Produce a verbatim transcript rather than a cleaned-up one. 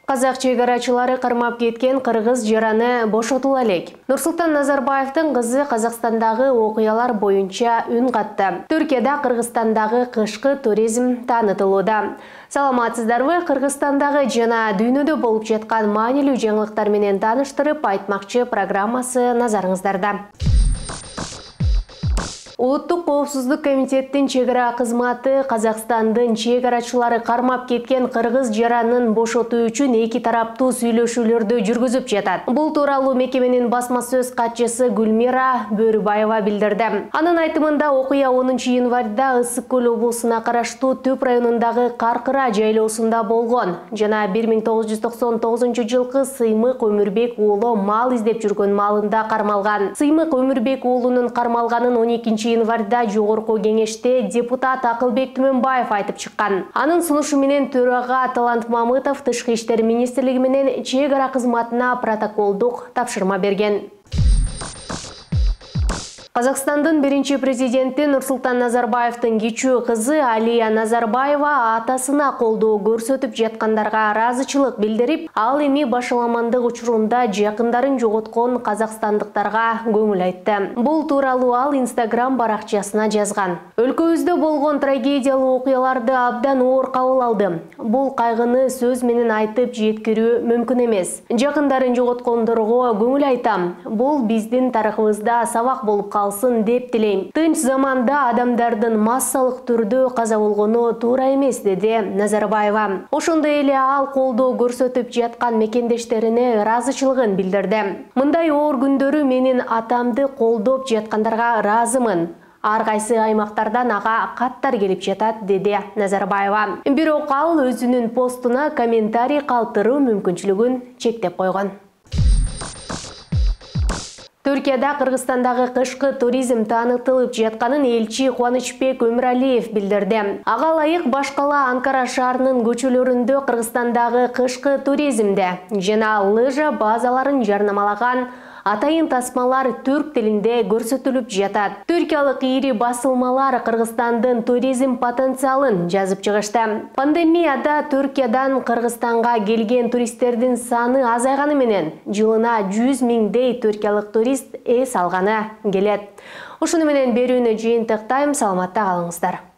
Казак чейгарачылары кармап кеткен кыргыз жараны бошотула элек. Нурсултан Назарбаевдин кызы Казакстандагы окуялар боюнча үн катты. Түркияда Кыргызстандагы кышкы туризм таанытылууда. Саламатсыздарбы? Кыргызстандагы жана дүйнөдө болуп жаткан маанилүү жаңылыктар менен тааныштырып айтмакчы программасы назарыңыздарда. Улуттук коопсуздук комитеттин чегара кызматы Казакстандын чегарачылары кармап кеткен кыргыз жаранын бошотуу үчүн эки тараптуу сүйлөшүүлөрдү жүргүзүп жатат. Бул тууралуу мекеменин басма сөз катчысы Гүлмира Бөрүбаева билдирди. Анын айтымында окуя онунчу январда Ысык көл облусуна караштуу Түп районундагы Каркыра жайлоосунда болгон жана бир миң тогуз жүз токсон тогузунчу жылкы Сыймык Өмүрбек уулу мал издеп жүргөн маалында кармалган. Сыймык Өмүрбек уулунун кармалганын он экинчи январда жогорку кеңеште депутат Акылбек Түмөнбаев айтып чыккан. Анын сунушу менен төрага Талант Мамытов Тышкы иштер министрлиги менен чегара кызматына протоколдук тапшырма берген. Казакстандын биринчи президенти Нурсултан Назарбаевдин кичүү кызы Алия Назарбаева атасына колдоо көрсөтүп жаткандарга ыраазычылык билдирип, ал эми башаламандык учурунда жакындарын жоготкон казакстандыктарга көңүл айтты. Бул тууралуу ал Инстаграм баракчасына жазган. Өлкөбүздө болгон трагедиялуу окуяларды абдан оор кабыл алдым. Бул кайгыны сөз менен айтып жеткирүү мүмкүн эмес. Жакындарын жоготкондорго көңүл айтам. Бул биздин тарыхыбызда сабак болуп калды деп тилейм. Тынч заманда адамдардын массалык түрдө каза болгону туура эмес, деди Назарбаева. Ошондой эле ал колдоо көрсөтүп жаткан мекендештерине ыраазычылыгын билдирди. Мындай оор күндөрү менин атамды колдоп жаткандарга ыраазымын. Ар кайсы аймактардан ага каттар келип жатат, деди Назарбаева. Бирок ал өзүнүн постуна комментарий калтыруу мүмкүнчүлүгүн чектеп койгон. Түркияда Кыргызстандагы кышкы туризм таанытылып жатканын элчи Кубанычбек Өмүралиев билдирди. Ага ылайык баш кала Анкара шаарынын көчөлөрүндө Кыргызстандагы кышкы туризмде жана лыжа базаларын жарнамалаган атайын тасмалар түрк тилинде көрсөтүлүп жатат. Түркиялык ири басылмалар Кыргызстандын туризм потенциалын жазып чыгышты. Пандемияда Түркиядан Кыргызстанга келген туристтердин саны азайганы менен жылына жүз миңдей түркиялык турист эс алганы келет. Ушуну менен берүүнү жыйынтыктайм. Саламатта калыңыздар.